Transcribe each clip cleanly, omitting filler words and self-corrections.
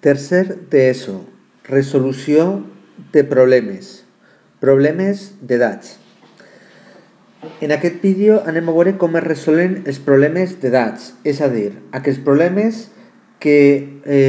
Tercer d'ESO, resolució de problemes de dats. En aquest vídeo anem a veure com es resolen els problemes de dats, és a dir, aquells problemes que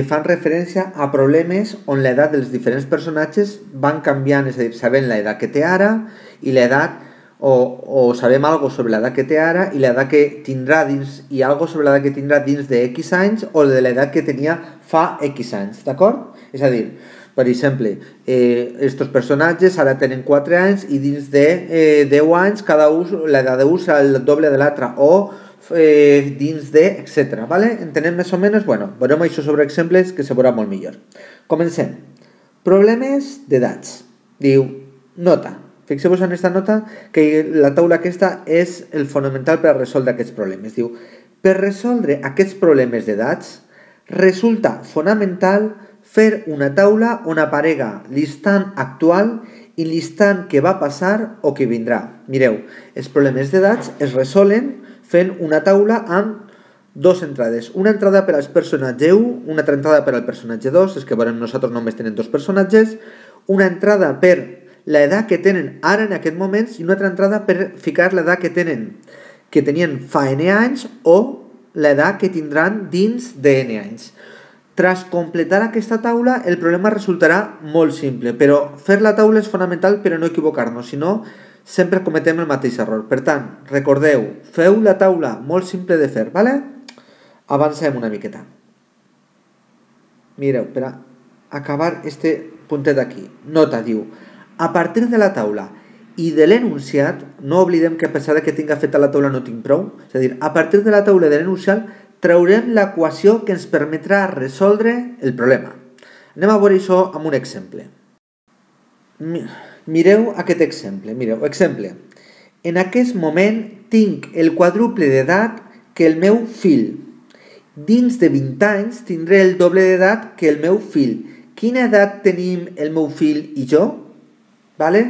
fan referència a problemes on l'edat dels diferents personatges van canviant, és a dir, sabem l'edat que té ara i l'edat o sabem alguna sobre l'edat que té ara i l'edat que tindrà dins i alguna sobre l'edat que tindrà dins de X anys o de l'edat que tenia fa X anys, d'acord? És a dir, per exemple, estos personatges ara tenen 4 anys i dins de 10 anys cada un, l'edat d'un serà el doble de l'altre o dins de, etc. ¿Vale? Entenem més o menys? Bueno, veurem això sobre exemples que se veurà molt millor. Comencem. Problemes de dats. Diu, nota. Fixeu-vos en aquesta nota que la taula aquesta és el fonamental per a resoldre aquests problemes. Diu, per resoldre aquests problemes de dats resulta fonamental fer una taula on aparega l'instant actual i l'instant que va passar o que vindrà. Mireu, els problemes de dats es resolen fent una taula amb dues entrades. Una entrada per al personatge 1, una altra entrada per al personatge 2, és que veurem nosaltres només tenen dos personatges, una entrada per l'edat que tenen ara en aquest moment i una altra entrada per ficar l'edat que tenien fa n anys o l'edat que tindran dins de n anys. Tras completar aquesta taula, el problema resultarà molt simple, però fer la taula és fonamental per a no equivocar-nos, si no, sempre cometem el mateix error. Per tant, recordeu, feu la taula molt simple de fer, ¿vale? Avancem una miqueta. Mireu, per a acabar este puntet d'aquí. Nota, diu, a partir de la taula i de l'enunciat, no oblidem que a pesar que tinga feta la taula no tinc prou, és a dir, a partir de la taula i de l'enunciat traurem l'equació que ens permetrà resoldre el problema. Anem a veure això amb un exemple. Mireu aquest exemple. Mireu, exemple. En aquest moment tinc el quadruple d'edat que el meu fill. Dins de 20 anys tindré el doble d'edat que el meu fill. Quina edat tenim el meu fill i jo? Vale?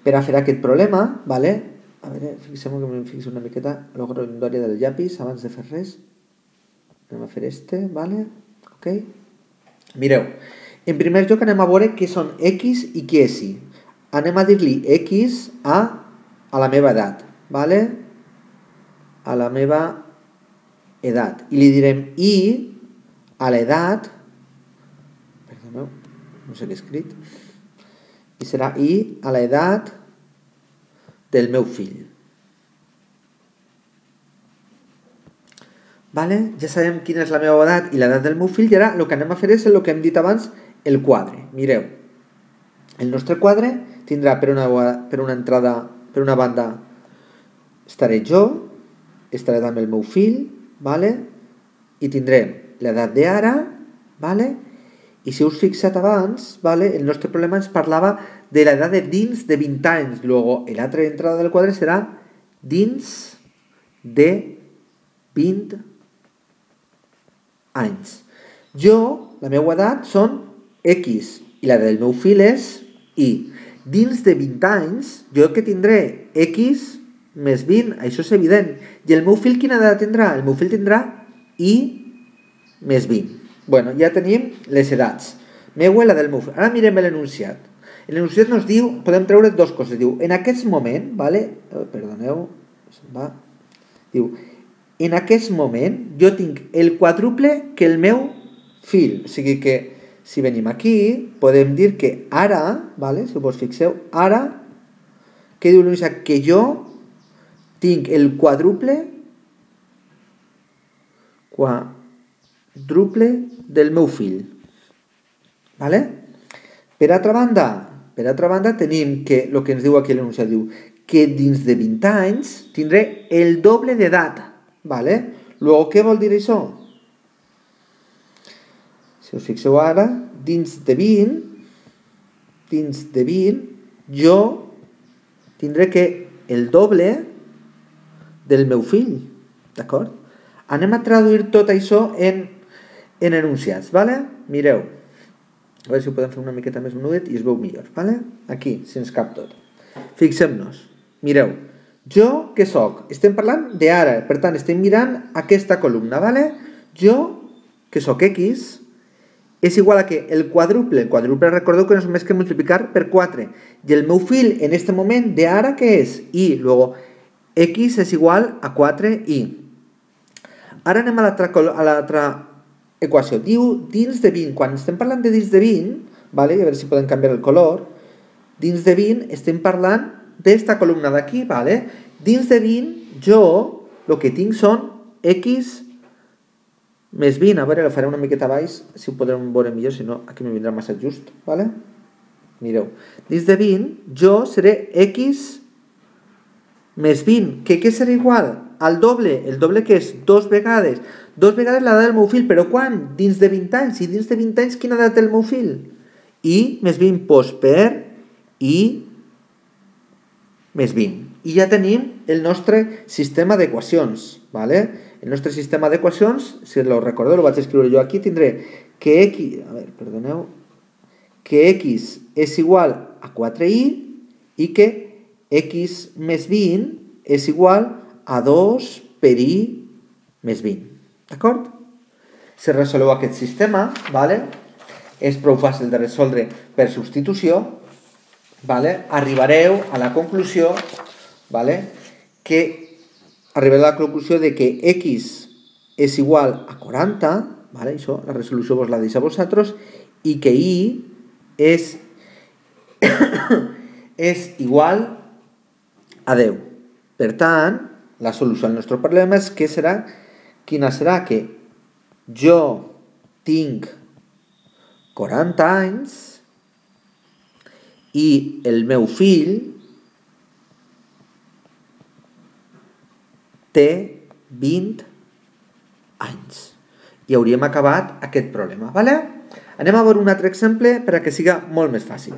Per a fer aquest problema, vale? A veure, fixem-ho que em fixo una miqueta la grandària del llapis abans de fer res. Anem a fer este, vale? Ok? Mireu, en primer lloc anem a veure què són X i què és Y. Anem a dir-li X a la meva edat, vale? A la meva edat. I li direm Y a l'edat, perdoneu, no sé què he escrit, i serà Y a l'edat del meu fill. Vale? Ja sabem quina és la meva edat i l'edat del meu fill i ara el que anem a fer és el que hem dit abans, el quadre. Mireu, el nostre quadre tindrà per una entrada, per una banda estaré jo, estaré també el meu fill, vale? I tindrem l'edat d'ara, vale? I si us fixat abans, vale, el nostre problema ens parlava de l'edat de dins de 20 anys. Luego, l'altra entrada del quadre serà dins de 20 anys. Jo, la meva edat són X i la del meu fill és Y. Dins de 20 anys, jo que tindré X més 20, això és evident. I el meu fill quina edat tindrà? El meu fill tindrà Y més 20. Bueno, ja tenim les edats. Meu i la del meu fill. Ara mirem l'enunciat. L'enunciat ens diu, podem treure dues coses. Diu, en aquest moment, vale? Perdoneu, se'n va. Diu, en aquest moment jo tinc el quadruple que el meu fill. O sigui que, si venim aquí, podem dir que ara, vale? Si us fixeu, ara, què diu l'enunciat? Que jo tinc el quadruple del meu fill. Vale? Per altra banda tenim que el que ens diu aquí l'enunciat diu que dins de 20 anys tindré el doble d'edat. Vale? Luego, què vol dir això? Si us fixeu ara, dins de 20, jo tindré que el doble del meu fill. D'acord? Anem a traduir tot això en enunciats, vale? Mireu, a veure si ho podem fer una miqueta més menudet i es veu millor, vale? Aquí, si ens cap tot. Fixem-nos, mireu, jo què soc? Estem parlant d'ara, per tant estem mirant aquesta columna, vale? Jo, que soc X, és igual a que el quadruple recordeu que no és més que multiplicar per 4, i el meu fil en aquest moment d'ara què és? I, luego, x és igual a 4i. Ara anem a l'altra equació. Diu dins de 20, quan estem parlant de dins de 20, vale? A veure si podem canviar el color, dins de 20 estem parlant d'esta columna d'aquí, vale? Dins de 20 jo el que tinc són x més 20, a veure, la faré una miqueta baix, si ho podrem veure millor, si no, aquí me vindrà massa just, ¿vale? Mireu, dins de 20, jo seré x més 20, que què serà igual? Al doble, el doble que és? Dos vegades l'edat del meu fill, però quan? Dins de 20 anys, i dins de 20 anys quina edat té el meu fill? I més 20 post per i més 20. I ja tenim el nostre sistema d'equacions, ¿vale? El nostre sistema d'equacions, si lo recordeu, lo vaig escriure jo aquí, tindré que x, a veure, perdoneu, que x és igual a 4i i que x més 20 és igual a 2 per i més 20. D'acord? Si resoleu aquest sistema, ¿vale? És prou fàcil de resoldre per substitució, ¿vale? Arribareu a la conclusió, ¿vale? Arribareu a la conclusió de que x és igual a 40, ¿vale? Això, la resolució vos la deixa a vosaltres, i que i és igual a 10. Per tant, la solució al nostre problema és que serà, quina serà? Que jo tinc 40 anys i el meu fill té 20 anys. I hauríem acabat aquest problema, ¿vale? Anem a veure un altre exemple per a que siga molt més fàcil.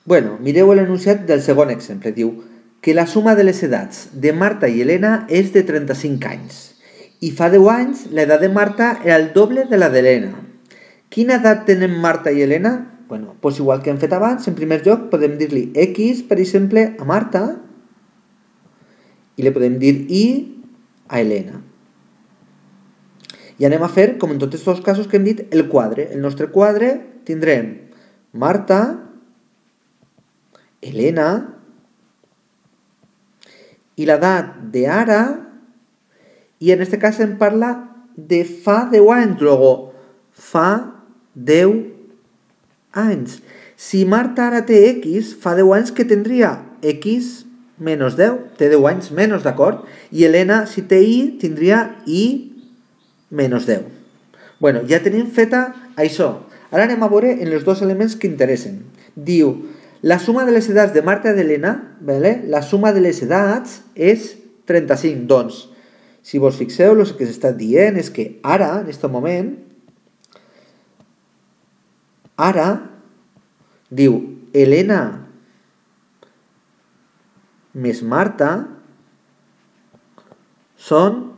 Bueno, mireu l'enunciat del segon exemple. Diu que la suma de les edats de Marta i Helena és de 35 anys. I fa 10 anys l'edat de Marta era el doble de la d'Helena. Quina edat tenen Marta i Helena? Bueno, doncs igual que hem fet abans, en primer lloc podem dir-li x, per exemple, a Marta, i li podem dir i a Helena. I anem a fer, com en tots els casos que hem dit, el quadre. El nostre quadre tindrem Marta, Helena, i l'edat d'ara, i en aquest cas em parla de fa 10 anys, luego fa 10 anys. Si Marta ara té x, fa 10 anys que tindria x menys 10, té 10 anys menys, d'acord? I Helena, si té i, tindria i menys 10. Bueno, ja tenim feta això. Ara anem a veure en els dos elements que interessen. Diu, la suma de les edats de Marta i d'Helena, ¿vale? La suma de les edats és 35. Doncs, si vos fixeu, el que s'està dient és que ara, en aquest moment, ara, diu, Helena més Marta són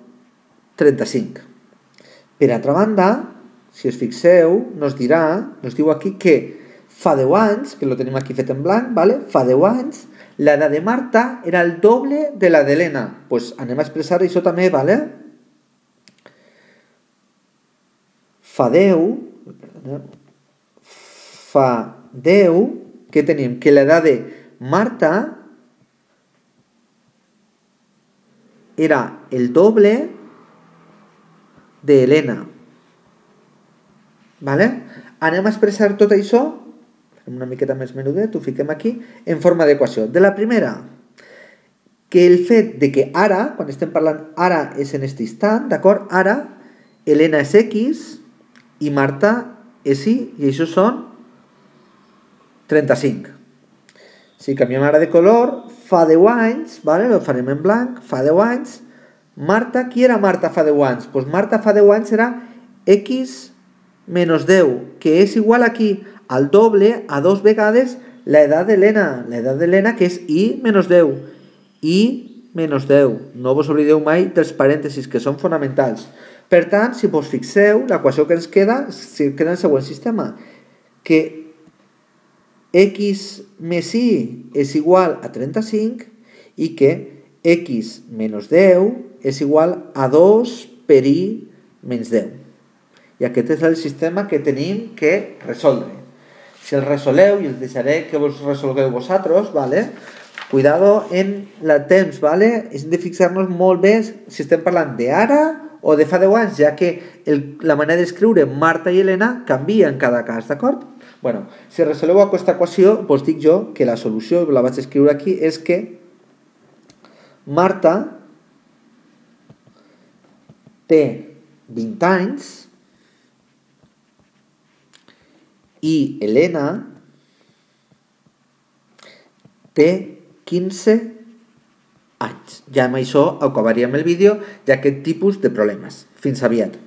35. Per altra banda, si us fixeu, nos diu aquí que fa 10 anys, que lo tenim aquí fet en blanc, ¿vale? Fa 10 anys, l'edat de Marta era el doble de la d'Helena. Pues anem a expressar això també, ¿vale? Fa 10, que tenim? Que l'edat de Marta era el doble de Helena. ¿Vale? Anem a expressar tot això, una miqueta més menudet, ho fiquem aquí, en forma d'equació. De la primera, que el fet de que ara, quan estem parlant ara és en aquest instant, d'acord? Ara, Helena és x i Marta és y, i això són 35. Si canviem ara de color, fa 10 anys, ¿vale? Lo farem en blanc, fa 10 anys. Marta, qui era Marta fa 10 anys? Pues Marta fa 10 anys era x menys 10, que és igual aquí al doble, a 2 vegades l'edat d'Helena. L'edat d'Helena que és i menys 10. I menys 10. No vos oblideu mai dels parèntesis, que són fonamentals. Per tant, si vos fixeu, l'equació que ens queda en el següent sistema, que x més i és igual a 35 i que x menys 10 és igual a 2 per i menys 10. I aquest és el sistema que tenim que resoldre. Si el resoleu, i us deixaré que vos resolgueu vosaltres, ¿vale? Cuidado en el temps, ¿vale? Hem de fixar-nos molt bé si estem parlant d'ara o de fa 10 anys, ja que la manera d'escriure Marta i Helena canvia en cada cas, d'acord? Bueno, si resoleu aquesta equació, doncs dic jo que la solució, la vaig escriure aquí, és que Marta té 20 anys i Helena té 15 anys. Ja amb això acabaríem el vídeo d'aquest tipus de problemes. Fins aviat.